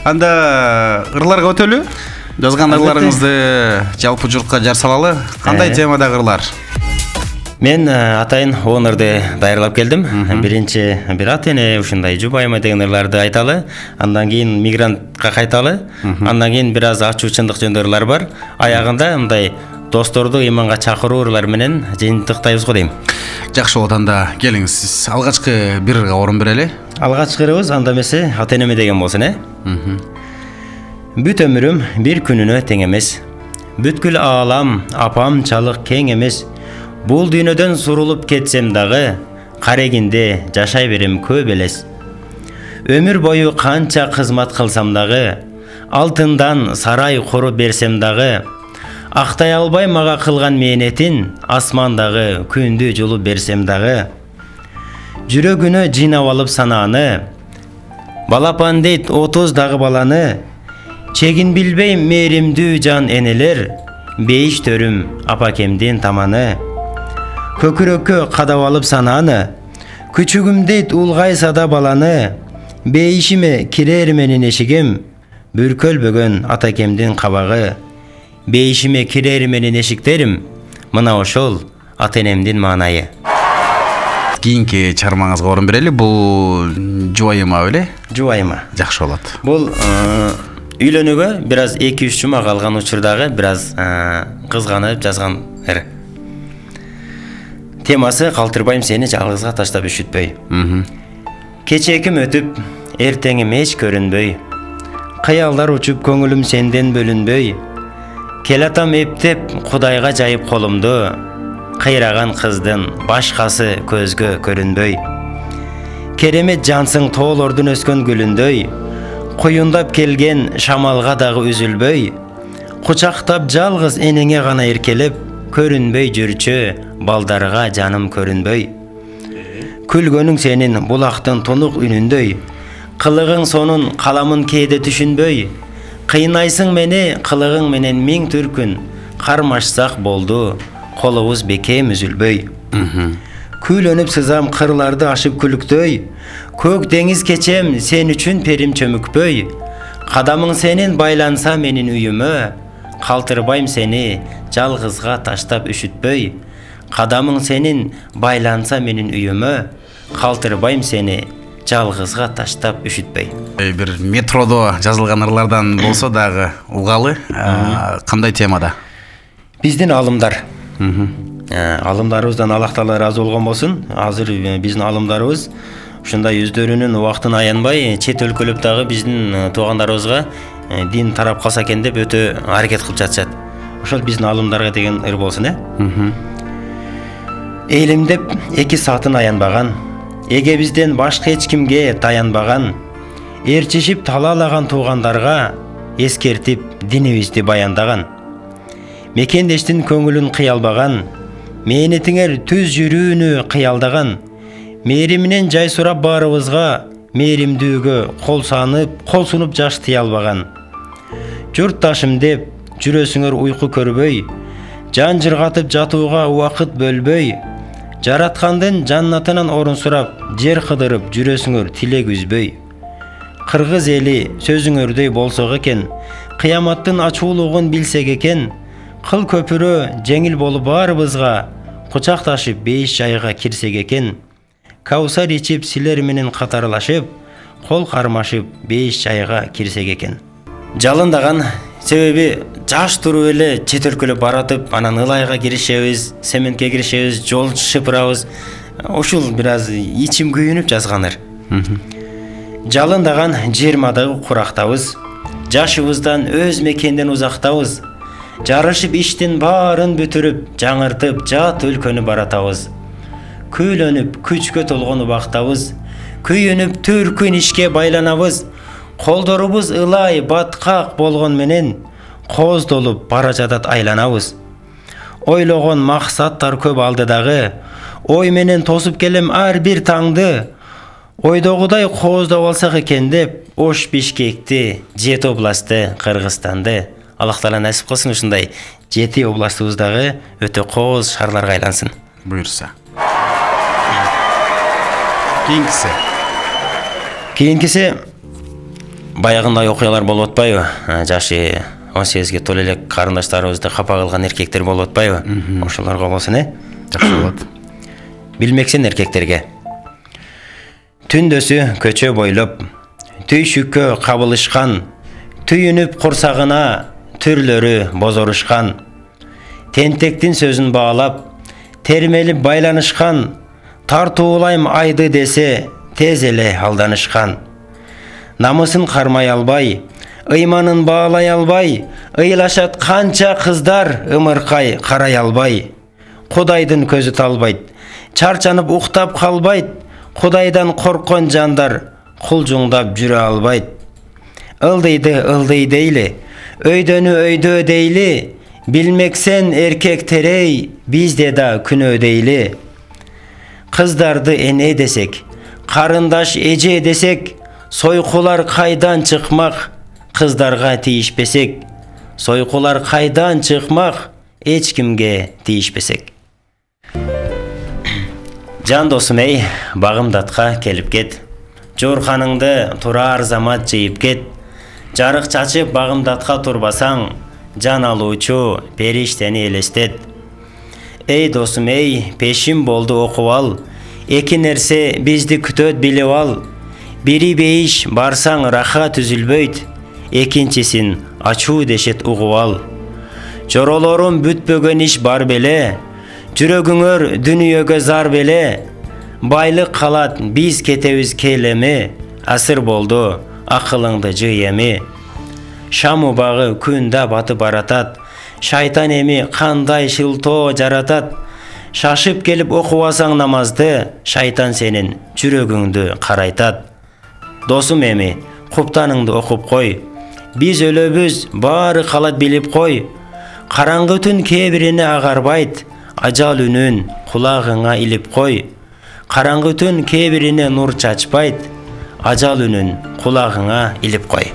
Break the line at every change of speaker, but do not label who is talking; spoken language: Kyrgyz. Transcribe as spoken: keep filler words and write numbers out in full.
Анда ырларга өтөлү. Жазган ырларыңызды жалпы журтка жар салалы. Кандай темадагы ырлар?
Мен атайын он ырды даярдап келдим. Биринчи бир ата эне ушундай жубайма деген ырларды айталы, андан кийин мигрантка кайталы, андан кийин бир аз ачуу чындык жөнүндө ырлар бар. Аягында мындай досторду иманга чакыруу ырлар менен жыйынтыктайбыз го дейм.
Жакшы болот, анда келиңиз. Сиз алгачкы бир ырга орун берели.
Алгачкы ырыбыз анда эмесе ата энеме деген болсун, э? Бүт өмүрүм бир күнүнө тең эмес. Бүткүл аалам апамчалык кең эмес. Бул дүйнөдөн сурулуп кетсем дагы, карегинде жашай берем көп элес. Өмүр бою канча кызмат кылсам дагы, алтындан сарай куруп берсем дагы, актай албай мага кылган мээнетин, асмандагы күндү жулуп берсем дагы. Жүрөгүнө жыйнап алып санааны, балапан дейт отуз дагы баланы, чегин билбей мээримдүү жан энелер, бейиш төрүм апакемдин таманы. Көкүрөккө кадап алып санааны, күчүгүм дейт улгайса да баланы, бейишиме кирер менин эшигим, бүркөлбөгөн атакемдин кабагы. Бейишиме кирер менин эшиктерим, мына ошол ата энемдин маанайы.
Кийинки чыгармаңызга орун берели. Бул жубайыма беле?
Жубайыма.
Жакшы болот.
Бул үйлөнүүгө бир аз эки үч жума калган учурдагы бир аз кызганып жазган ыр. Темасы калтырбайм сени жалгызга таштап үшүтпөй. Кечээким өтүп, эртеңим эч көрүнбөй. Кыялдар учуп көңүлүм сенден бөлүнбөй. Келатам эптеп Кудайга жайып колумду, кыйраган кыздын башкасы көзгө көрүнбөй. Керемет жансың тоолордун өскөн гүлүндөй, куюндап келген шамалга дагы үзүлбөй. Кучактап жалгыз энеңе гана эркелеп, көрүнбөй жүрчү балдарга жаным көрүнбөй. Күлгөнүң сенин булактын тунук үнүндөй, кылыгың сонун каламын кээде түшүнбөй. Кыйнайсың мени кылыгың менен миң түркүн, кармашсак болду, колубуз бекем үзүлбөй. Күйлөнүп сызам кырларды ашып күлүктөй, көк деңиз кечем сен үчүн перим чөмүкпөй. Кадамың сенин байланса менин үйүмө, калтырбайм сени жалгызга таштап үшүтпөй. Кадамың сенин байланса менин үйүмө, калтырбайм сени жалгызга таштап үшүтпөй.
Бир метродо жазылган ырлардан болсо дагы угалы. Кандай темада?
Биздин алымдар. Алымдарыбыздан Аллах Таала ыраазы болгон болсун. Азыр биздин алымдарыбыз ушундай өздөрүнүн убактын аянбай, чет өлкөлөп дагы биздин туугандарыбызга дин тарап калса экен деп өтө аракет кылып жатышат. Ошол биздин алымдарга деген ыр болсун, э? Элимдеп эки саатын аянбаган, эгебизден башка эч кимге таянбаган, ээрчишип талаалаган туугандарга эскертип динибизди баяндаган. Мекендештин көңүлүн кыялбаган, мээнетиңер түз жүрүүнү кыялдаган, мээриминен жай сурап баарыбызга, мээримдүүгө кол санып, кол сунуп жаш тыя албаган. Журтташым деп жүрөсүңөр уйку көрбөй, жан жыргатып жатууга убакыт бөлбөй. Жараткандын жаннатынан орун сурап, жер кыдырып жүрөсүңөр тилек үзбөй. Кыргыз эли сөзүңөрдөй болсок экен, кыяматтын ачуулугун билсек экен, кыл көпүрө жеңил болуп баарыбызга, кучакташып бейиш жайга кирсек экен. Каусар ичип силер менен катарлашып, кол кармашып бейиш жайга кирсек экен. Жалындаган себеби жаш туруп эле чет өлкөлөп баратып, анан ылайга киришебиз, сементке киришебиз, жол шыпырабыз. Ушул бир аз ичим күйүнүп жазганыр. Жалындаган жыйырмадагы курактабыз, жашыбыздан өз мекенден узактабыз. Жарышып иштин баарын бүтүрүп, жаңыртып жат өлкөнү баратабыз. Күйлөнүп күчкө толгон убактабыз, күйүнүп түркүн ишке байланабыз. Колдорубуз ылай баткак болгон менен, кооздолуп бара жатат айланабыз. Ойлогон максаттар көп алдыдагы, ой менен тосуп келем ар бир таңды. Ойдогудай кооздоп алсак экен деп, Ош Бишкекти, жети областты, Кыргызстанды. Аллах Таала насип кылсын ушундай жети областыбыздагы өтө кооз шаарларга айлансын.
Буйрса. Кийинкиси.
Кийинкиси баягындай окуялар болуп атпайбы? Жашы он сегизге толо элек карындаштарыбызды капа кылган эркектер болуп атпайбы? Ошолорго болсун, э?
Жакшы болот.
Билмексен эркектерге. Түндөсү көчө бойлоп, түйшүккө кабылышкан, түйүнүп курсагына түрлөрү бозорушкан. Тентектин сөзүн баалап, термелип байланышкан, тартуулайм айды десе, тез эле алданышкан. Намысын кармай албай, ыйманын баалай албай, ыйлашат канча кыздар ымыркай карай албай. Кудайдын көзү талбайт, чарчанып уктап калбайт, Кудайдан корккон жандар кулжуңдап жүрө албайт. Ылдыйды ылдый дейли, өйдөнү өйдө дейли, билмексен эркектерей, бизде да күнөө дейли. Кыздарды эне десек, карындаш эже десек, сойкулар кайдан чыкмак, кыздарга тийишпесек. Сойкулар кайдан чыкмак, эч кимге тийишпесек. Жан досум эй, багымдатка келип кет. Жорханыңды турар замат жыйып кет. Жарык чачып багымдатка турбасаң, жан алуучу периштени элестет. Эй досум эй, пешим болду окуп ал. Эки нерсе бизди күтөт билип ал. Бири бейиш барсаң рахат үзүлбөйт, экинчисин ачуу дешет угуп ал. Жоролорум бүтпөгөн иш бар беле, жүрөгүңөр дүнүйөгө зар беле. Байлык калат, биз кетебиз келеми, асыр болду, акылыңды жый эми. Шам убагы күн да батып баратат, шайтан эми кандай шылтоо жаратат. Шашып келип окубасаң намазды, шайтан сенин жүрөгүңдү карайтат. Досум эми, куптаныңды окуп кой. Биз өлөбүз, баары калат билип кой. Караңгы түн кээ бирине агарбайт, ажал үнүн кулагыңа илип кой. Караңгы түн кээ бирине нур чачпайт, ажал үнүн кулагыңа илип кой.